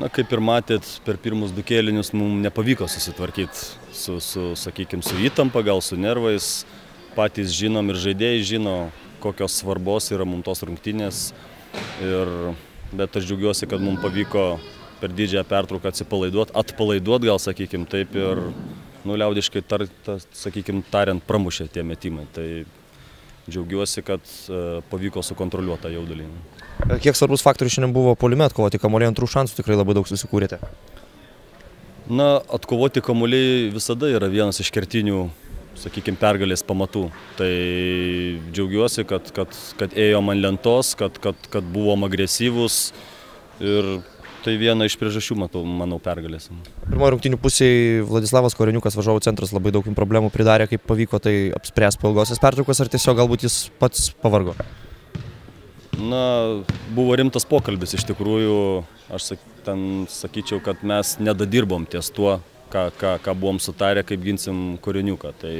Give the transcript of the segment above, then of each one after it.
Na, kaip ir matėt, per pirmus du kėlinius mums nepavyko susitvarkyti sakykime, su įtampa, gal su nervais. Patys žinom ir žaidėjai žino, kokios svarbos yra mums tos rungtynės. Bet aš džiaugiuosi, kad mums pavyko per didžiąją pertrauką atpalaiduot gal, sakykime, taip ir liaudiškai tariant, pramušė tie metimai. Tai džiaugiuosi, kad pavyko sukontroliuoti tą jaudulį. Kiek svarbus faktorius šiandien buvo puolime atkovoti kamuoliai, antrų šansų tikrai labai daug susikūrėte? Na, atkovoti kamuoliai visada yra vienas iš kertinių, sakykime, pergalės pamatų. Tai džiaugiuosi, kad ėjom ant lentos, kad buvom agresyvūs ir tai viena iš priežasčių, manau, pergalės. Pirmoje rungtynių pusėje Vladislavas Koreniukas, varžovų centras, labai daug problemų pridarė, kaip pavyko tai apspręsti po ilgosios pertraukos, ar tiesiog galbūt jis pats pavargo? Na, buvo rimtas pokalbis iš tikrųjų, aš sakyčiau, kad mes nedadirbom ties tuo, ką buvom sutarę, kaip ginsim Koreniuką. Tai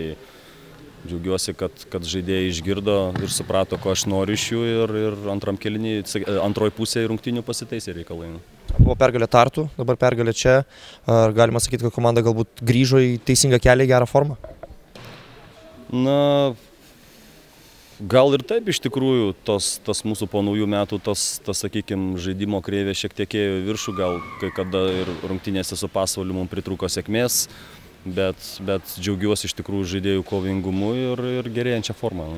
džiaugiuosi, kad žaidėjai išgirdo ir suprato, ko aš noriu iš jų ir antroji pusė rungtynių pasitaisė reikalai. Buvo pergalė Tartu, dabar pergalė čia. Ar galima sakyti, kad komanda galbūt grįžo į teisingą kelią, į gerą formą? Na, gal ir taip iš tikrųjų, tas mūsų po naujų metų, sakykime, žaidimo kreivė šiek tiek ėjo į viršų, gal kai kada ir rungtynėse su Pasvaliu mums pritrūko sėkmės, bet džiaugiuosi iš tikrųjų žaidėjų kovingumu ir gerėjančią formą.